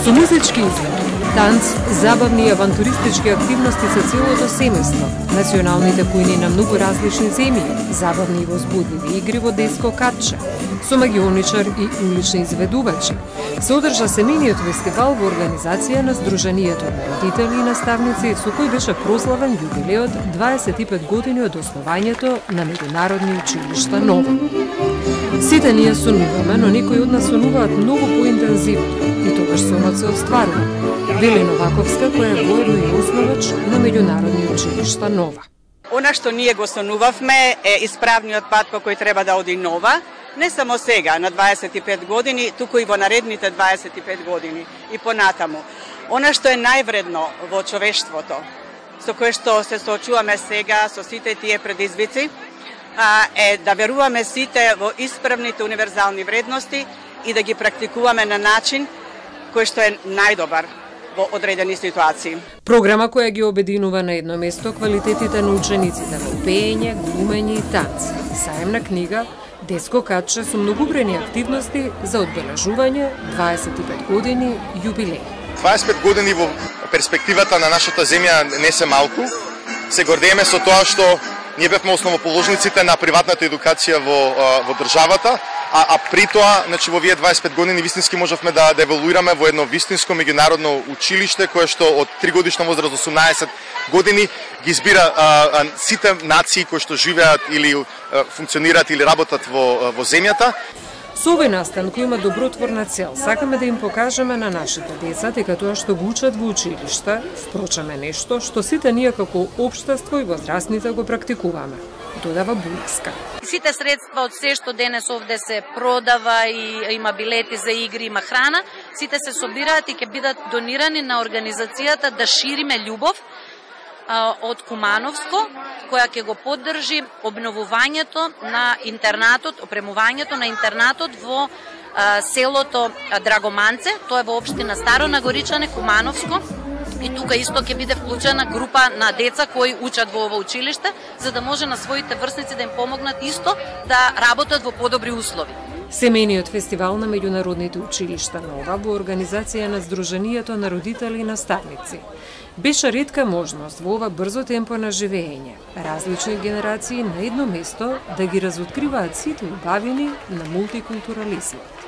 Со музички изглед, танц, забавни и авантуристички активности со целото семејство, националните кујни на многу различни земји, забавни и возбудливи игри во детско катче, со магионичар и улични изведувачи, се одржа семејниот фестивал во организација на Сдруженијето на родители и наставници, со кој беше прославен јубилеот 25 години од основањето на меѓународни училишта Нова. Сите ние сонуваме, но некои од нас сонуваат многу поинтензивно и тогаш сонот се остварува. Вели Новаковска, која е воедно и основач на меѓународни училишта Нова. Она што ние го сонувавме е исправниот пат по кој треба да оди Нова, не само сега на 25 години, туку и во наредните 25 години и понатаму. Она што е највредно во човештвото, со кое што се соочуваме сега со сите тие предизвици, е да веруваме сите во исправните универзални вредности и да ги практикуваме на начин кој што е најдобар во одредени ситуации. Програма која ги обединува на едно место квалитетите на учениците во пеење, глумење и танц, саемна книга, детско катче со многубрени активности за одбележување 25 години јубилеј. 25 години во перспективата на нашата земја не се малку. Се гордееме со тоа што ние бевме основоположниците на приватната едукација во државата, а при тоа, значи во овие 25 години вистински можевме да еволуираме во едно вистинско меѓународно училиште кое што од 3 годишна возраст до 18 години ги избира сите нации кои што живеат или функционираат или работат во земјата. Со овој настан кој има добротворна цел, сакаме да им покажеме на нашите деца дека тоа што го учат во училишта, впрочем е нешто што сите ние како општество и возрастните го практикуваме, додава Бујовска. Сите средства од се што денес овде се продава и има билети за игри, има храна, сите се собираат и ќе бидат донирани на организацијата Да шириме љубов од Кумановско, која ќе го поддржи обновувањето на интернатот, опремувањето на интернатот во селото Драгоманце, тоа е во општина Старо Нагоричане, Кумановско. И тука исто ќе биде вклучена група на деца кои учат во ова училиште, за да може на своите врсници да им помогнат исто да работат во подобри услови. Семејниот фестивал на меѓународните училишта Нова во организација на Сдруженијето на родители и наставници беше ретка можност во ова брзо темпо на живење, различни генерации на едно место да ги разоткриваат сите убавини на мултикултурализмот.